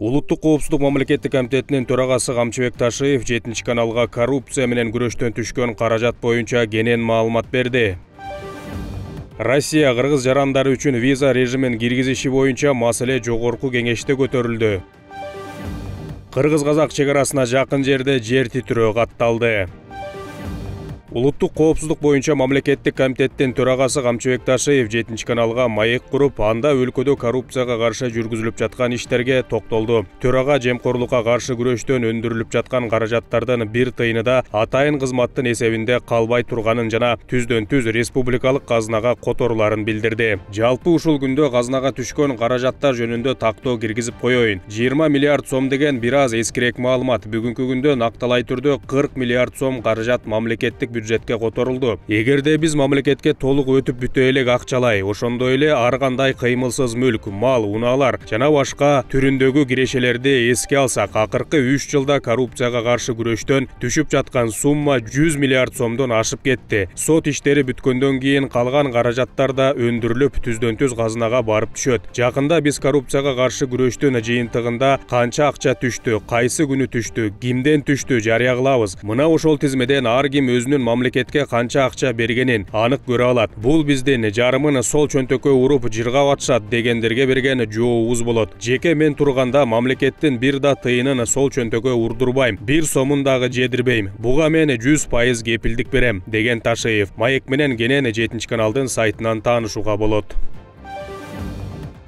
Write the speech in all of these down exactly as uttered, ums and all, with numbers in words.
Улуттук коопсуздук мамлекеттик комитетинин төрагасы Камчыбек Ташиев жетинчи каналга коррупция менен күрөштөн түшкөн каражат боюнча кенен маалымат берди. Россия кыргыз жарандары үчүн виза режимин киргизиши боюнча маселе жогорку кеңеште көтөрүлдү. Кыргыз-казак чек арасына жакын жерде жер титирөө катталды. Улуттук коопсуздук боюнча мамлекеттик комитеттин төрагасы Камчыбек Ташиев жетинчи каналга маек куруп, анда өлкөдө коррупцияга каршы жүргүзүлүп жаткан иштерге токтолду. Төрага жемкорлукка каршы күрөштөн өндүрүлүп жаткан каражаттардын бир тыйыны да атайын кызматтын эсебинде калбай турганын жана түздөн түз республикалык казынага которуларын билдирди. Жалпы ушул күндө казынага түшкөн каражаттар жөнүндө тактоо киргизип коеюн. жыйырма миллиард сом деген бир аз эскирээк маалымат. Бүгүнкү күндө накталай түрдө кырк миллиард сом каражат мамлекеттик бюджетке которулду. Эгерде биз мамлекетке толук өтүп бүтө элек акчалай, ошондой эле ар кандай кыймылсыз мүлк, мал, унаалар жана башка түрүндөгү кирешелерди эске алсак, акыркы үч жылда коррупцияга каршы күрөштөн түшүп жаткан сумма жүз миллиард сомдон ашып кетти. Сот иштери бүткөндөн кийин калган каражаттар да өндүрүлүп, түздөн түз казынага барып түшөт. Жакында биз коррупцияга каршы күрөштөн жыйынтыгында канча акча түштү, кайсы күнү түштү, кимден түштү жарыя кылабыз. Мына ошол тизмеден ар ким өзүнүн мамлекетке канча акча бергенин анык көрө алат. Бул биздин жарымын сол чөнтөккө уруп жыргап атышат дегендерге берген жообубуз болот. Жеке мен турганда мамлекеттин бир да тыйынын сол чөнтөккө урдурбайм, бир сомун дагы жедирбейм. Буга мен жүз пайыз кепилдик берем, деген Ташиев. Маек менен кенен жетинчи каналдын сайтынан таанышууга болот.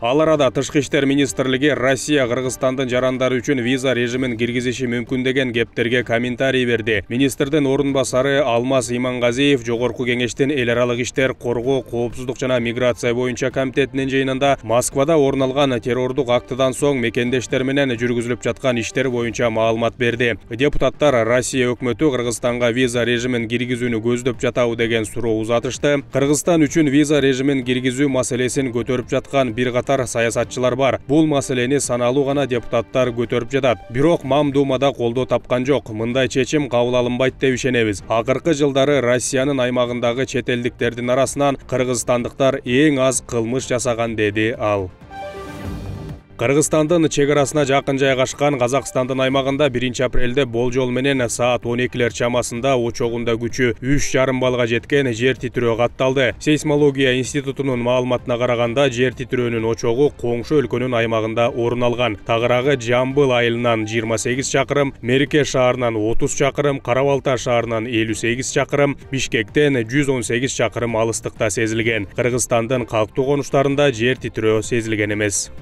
Ал арада Тышкы иштер министрлиги Россия Кыргызстандын жарандары үчүн виза режимин киргизиши мүмкүн деген кептерге комментарий берди. Министрдин орун басары Алмаз Имангазиев жогорку кеңештин эл аралык иштер, коргоо, коопсуздук жана миграция боюнча комитетинин жыйынында Москвада орун алган террордук актыдан соң мекендештер менен жүргүзүлүп жаткан иштер боюнча маалымат берди. Депутаттар Россия өкмөтү Кыргызстанга виза режимин киргизүүнү көздөп жатабы деген суроо узатышты. Кыргызстан үчүн виза режимин киргизүү маселесин көтөрүп жаткан бир катар саясатчылар бар. Бул маселени саналуу гана депутаттар көтөрүп жатат. Бирок Мамдумада колдоо тапкан жок. Мындай чечим кабыл алынбайт деп ишенебиз. Акыркы жылдары Россиянын аймагындагы чет элдиктердин арасынан кыргызстандыктар эң аз кылмыш жасаган, деди ал. Кыргызстандын чек арасына жакын жайгашкан Казакстандын аймагында биринчи апрелде болжол менен саат он экилер чамасында очогунда күчү үч жарым баллга жеткен жер титирөө катталды. Сейсмология институтунун маалыматына караганда, жер титирөөнүн очогу коңшу өлкөнүн аймагында орун алган. Тагыраагы Жамбыл айылынан жыйырма сегиз чакырым, Мерке шаарынан отуз чакырым, Кара-Балта шаарынан элүү сегиз чакырым, Бишкектен жүз он сегиз чакырым алыстыкта сезилген. Кыргызстандын калктуу конуштарында жер титирөө сезилген эмес.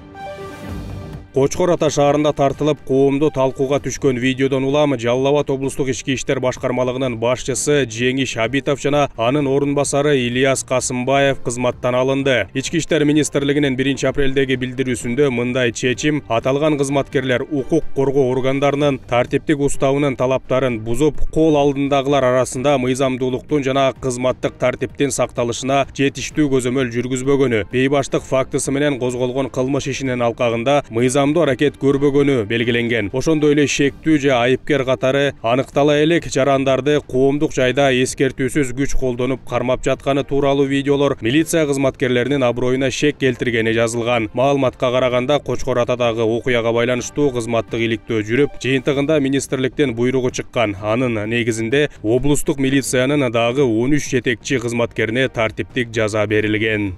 Кочкор Ата шаарында тартылып, коомдо талкууга түшкөн видеодон улам Жалал Абад облустук ички иштер башкармалыгынын башчысы Жеңиш Абитов жана анын орун басары Ильяс Касымбаев кызматтан алынды. Ички иштер министрлигинин биринчи апрелдеги билдирүүсүндө мындай чечим аталган кызматкерлер укук коргоо органдарынын тартиптик уставынын талаптарын бузуп, кол алдындагылар арасында мыйзамдуулуктун жана кызматтык тартиптин сакталышына жетиштүү көзөмөл жүргүзбөгөнү, бейбаштык фактысы менен козголгон кылмыш ишинин алкагында мыйзам аракет көрбөгөнү белгиленген. Ошондой эле шектүү же айыпкер катары аныктала элек жарандарды коомдук жайда эскертүүсүз күч колдонуп кармап жатканы тууралуу видеолор милиция кызматкерлеринин аброюна шек келтиргени жазылган. Маалыматка караганда, Кочкор Атадагы окуяга байланыштуу кызматтык иликтөө жүрүп, жыйынтыгында министрликтен буйругу чыккан. Анын негизинде облустук милициянын дагы он үч жетекчи кызматкерине тартиптик жаза берилген.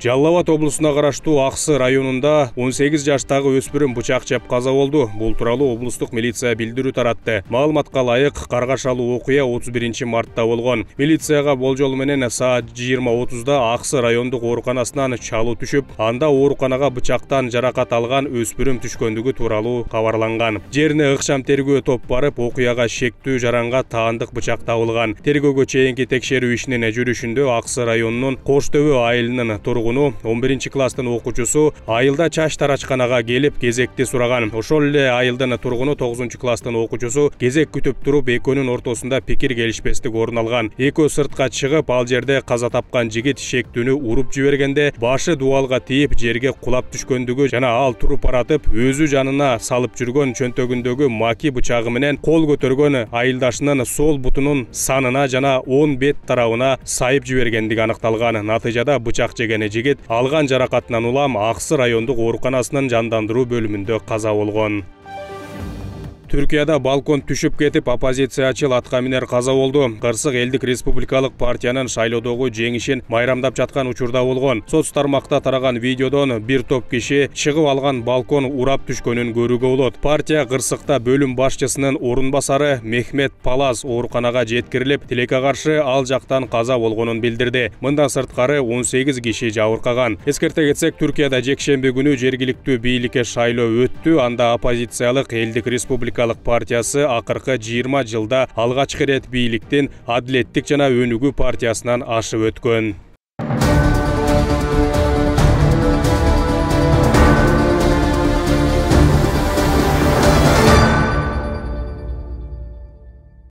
Жалал Абад облусуна караштуу Аксы районунда он сегиз жаштагы өспүрүм бычак жеп каза болду. Бул тууралуу облустук милиция билдирүү таратты. Маалыматка ылайык, каргашалуу окуя отуз биринчи мартта болгон. Милицияга болжол менен саат жыйырма отузда Аксы райондук ооруканасынан чалуу түшүп, анда ооруканага бычактан жаракат алган өспүрүм түшкөндүгү тууралуу кабарланган. Жерине ыкчам тергөө топ барып, окуяга шектүү жаранга таандык бычак табылган. Тергөөгө чейинки текшерүү ишинин жүрүшүндө Аксы районунун Коштөбө айылынын тургуну он биринчи класстын окуучусу айылда чач тарачканага келип кезекти сураган. Ошол эле айылдын тургуну тогузунчу класстын окуучусу кезек күтүп туруп, экөөнүн ортосунда пикир келишпестик орун алган. Экөө сыртка чыгып, ал жерде каза тапкан жигит шектүүнү уруп жибергенде башы дубалга тийип жерге кулап түшкөндүгү жана ал туруп баратып, өзү жанына салып жүргөн чөнтөгүндөгү маки бычагы менен кол көтөргөн айылдашынын сол бутунун санына жана он бет тарабына сайып жибергендиги аныкталган. Натыйжада бычак жеген жигит жигит алган жаракатынан улам Аксы райондук ооруканасынын жандандыруу бөлүмүндө каза болгон. Түркияда балкон түшүп кетип, оппозициячы латка минер каза болду. Кырсык элдик республикалык партиянын шайлоодогу жеңишин майрамдап жаткан учурда болгон. Соц тармакта тараган видеодон бир топ киши чыгып алган балкон урап түшкөнүн көрүүгө болот. Партия Кырсыкта бөлүм башчысынын орун басары Мехмет Палас ооруканага жеткирилип, тилекке каршы ал жактан каза болгонун билдирди. Мындан сырткары он сегиз киши жабыркаган. Эскерте кетсек, Түркияда жекшемби күнү жергиликтүү бийликке шайлоо өттү. Анда оппозициялык элдик республика партиясы акыркы жыйырма жылда алгачкы ирет бийликтин Адилеттик жана Өнүгүү партиясынан ашып өткөн.